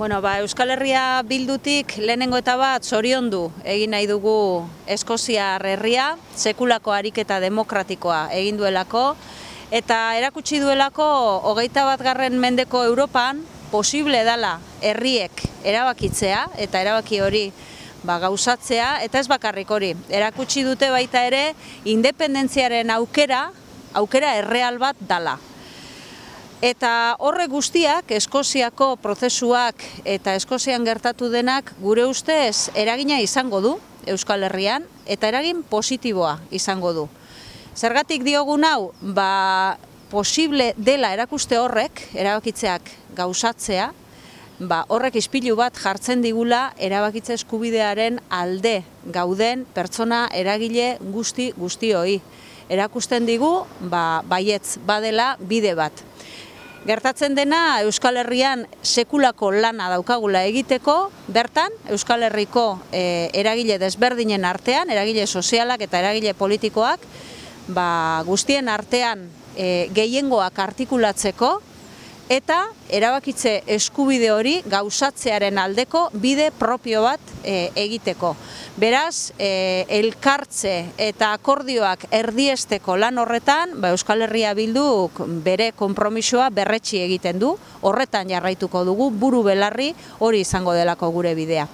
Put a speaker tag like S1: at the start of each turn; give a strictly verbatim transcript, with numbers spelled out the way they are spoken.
S1: Bueno, ba, Euskal Herria Bildutik lehenengo eta bat zoriondu egin nahi dugu Eskoziar herria, sekulako ariketa demokratikoa egin duelako, eta erakutsi duelako hogeita bat garren mendeko Europan posible dela herriek erabakitzea, eta erabaki hori ba, gauzatzea, eta ez bakarrik hori. Erakutsi dute baita ere independentziaren aukera, aukera erreal bat dala. Eta horre guztiak, Eskoziako prozesuak eta Eskozian gertatu denak gure ustez eragina izango du Euskal Herrian, eta eragin positiboa izango du. Zergatik diogun hau, ba, posible dela erakuste horrek, erabakitzeak gauzatzea, ba, horrek ispilu bat jartzen digula erabakitze eskubidearen alde gauden pertsona eragile guzti guztioi. Erakusten digu, ba, baietz badela bide bat. Gertatzen dena Euskal Herrian sekulako lana daukagula egiteko, bertan Euskal Herriko e, eragile desberdinen artean, eragile sozialak eta eragile politikoak, ba, guztien artean e, gehiengoak artikulatzeko, eta erabakitze eskubide hori gauzatzearen aldeko bide propio bat e, egiteko. Beraz, e, elkartze eta akordioak erdiesteko lan horretan, ba, Euskal Herria Bilduk bere konpromisoa berretsi egiten du, horretan jarraituko dugu, buru belarri hori izango delako gure bidea.